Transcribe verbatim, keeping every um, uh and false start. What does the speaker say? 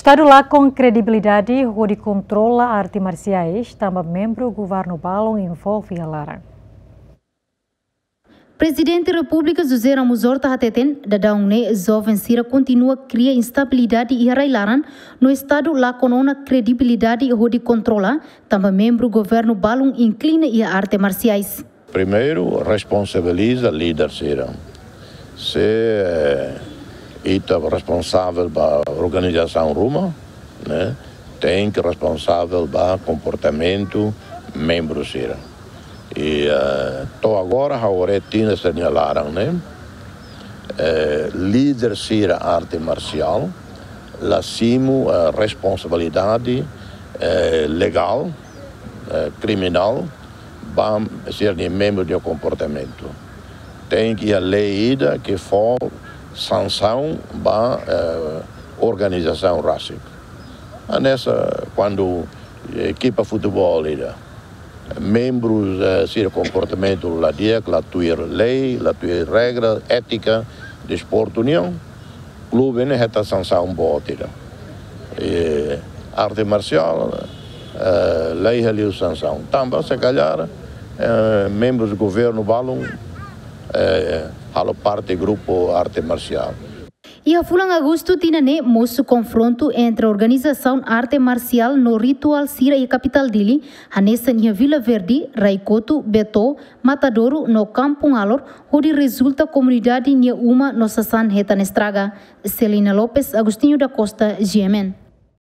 Estadu lakon kredibilidade hodi kontrola arte marsiais tanba membru governu balun envolve iha laran. Prezidente Repúblika José Ramos Horta hateten, daudaun ne'e joven sira kontinua kria instabilidade iha rai-laran, no Estadu lakon ona kredibilidade hodi kontrola, tanba membru governu balun inklina iha arte marsiais. Primeiru, responsabiliza líder sira. Se, eh, ita responsavel ba organizasaun ruma, ne'e, tenke responsavel ba komportamentu membru sira. I, eh, to'o agora, ha'u haree tinan sira-nia laran, ne'e, eh, líder sira arte marsiál la simu, eh, responsabilidade, eh, legál, eh, kriminál, ba sira-nia membru nia komportamentu. Tenke iha lei ida ke fó sansaun ba, eh, organizasaun rasik. Hanesan kuandu ekipa futeból ida, membru, eh, sira komportamentu la di'ak, la tuir lei, la tuir regra, étika, desportu nian, klube ne'e hetan sansaun boot ida. I arte marsiál, eh, la iha liu sansaun. Tanba, se kalhar, eh, membru governu balun, eh, halo parte grupu arte marsiál. Iha fulan Agostu tinan ne'e mosu konfrontu entre organizasaun arte marsiál no rituál sira iha kapitál Dili, hanesan iha Vila Verde, Raikotu, Beto, Matadouro no Kampung Alor, hodi rezulta komunidade nia uma no sasán hetan estraga. Celina Lopes, Agostinho da Costa, G M N.